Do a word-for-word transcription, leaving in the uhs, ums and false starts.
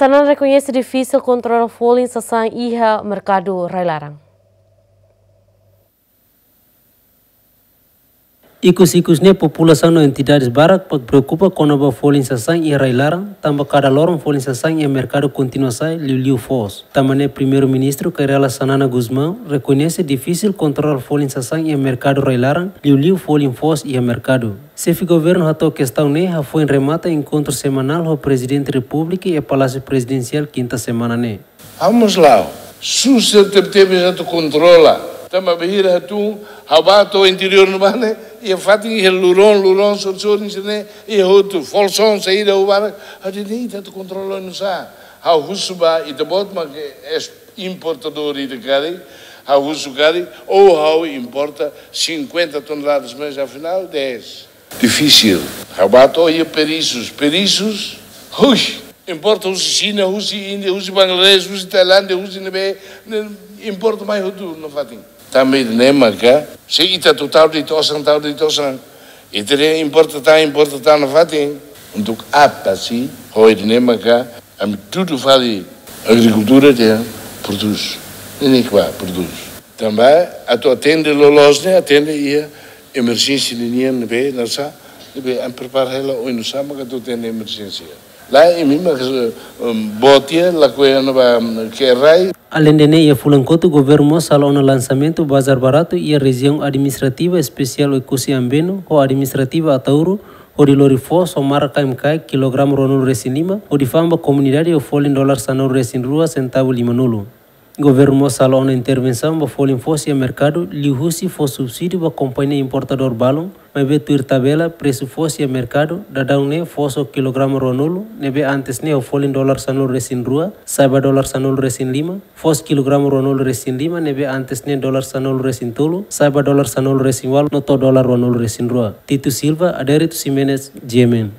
Xanana rekoñese difisil kontrola folin sasán iha merkadu rai-laran. Ikus-ikus ne'e populasaun no entidades barak preokupa kona-ba folin sasán iha rai-laran, tanba kada loron folin sasán iha merkadu kontinua sa'e, liuliu foos. Tanba ne'e Primeiru-Ministru Kay Rala Xanana Gusmão rekoñese difisil kontrola folin sasán iha merkadu rai-laran, liuliu folin foos iha merkadu. Xefe Governu hato'o kestaun ne'e hafoin remata enkontru semanál ho Prezidente Repúblika iha Palásiu Prezidensiál kinta semana ne'e. Vamos lá. Susar tebetebes atu kontrola. Tanba bainhira hatún, ha'u bá to'o interiór ne'ebá ne'e, iha fatin iha luron, luron, sorin-sorin sira-ne'e, iha hotu, folsoun saida ha'u bá, ha'u dehan ita atu kontrola oinsá. Ha'u husu ba, ita-boot mak es-, importadór ida karik, ha'u husu karik, ou ha'u importa cinquenta toneladas, mas afinál dez. Difisil. Ha'u bá to'o iha perisus, perisus, hui, importa husi Xina, husi Índia, husi Bangladesh, husi Tailándia, husi ne'ebé, ne'e importa mai hotu nafatin. Tanba ne'e maka, se ita atu tau de'it osan, tau de'it osan. Ita dehan importa tan, importa tan nafatin. Untuk apa sih? Ho ida-ne'e maka, ami tudu fali agrikultura dehan prodús. Ne'e mak bá prodús. Tanba atu atende loloos ne'e, atende iha emerjénsia ninian ne'ebé, nasa, ne'ebé ami prepara hela oinsá maka atu atende emerjénsia. Lae, imi mak, em, boot iha, lakohi ona ba, em, ke rai. Aleinde ne'e, iha fulan kotuk, Governu mós halo ona lansamentu bazár baratu iha Rejiaun Administrativa Espesiál Oekusi Ambeno ho Administrativa Ataúro, hodi lori foos ho marka M K I kilograma ruanulu-resin-lima, hodi fa'an ba komunidade ho folin dolar sanulu-resin-rua sentavu limanulu. Governu mós halo ona intervensaun ba folin foos iha merkadu, liuhusi fó subsídiu ba kompañia importadór balun, maibé tuir tabela presu foos iha merkadu, daudaun ne'e foos ho kilograma ruanulu, ne'ebé antes ne'e ho folin dolar sanulu-resin-rua, sa'e ba dolar sanulu-resin-lima, foos kilograma ruanulu-resin-lima, ne'ebé antes ne'e dolar sanulu-resin-tolu, sa'e ba dolar sanulu-resin-ualu, no to'o dolar ruanulu-resin-rua. Tito Silva, Adérito Ximenes, G M N.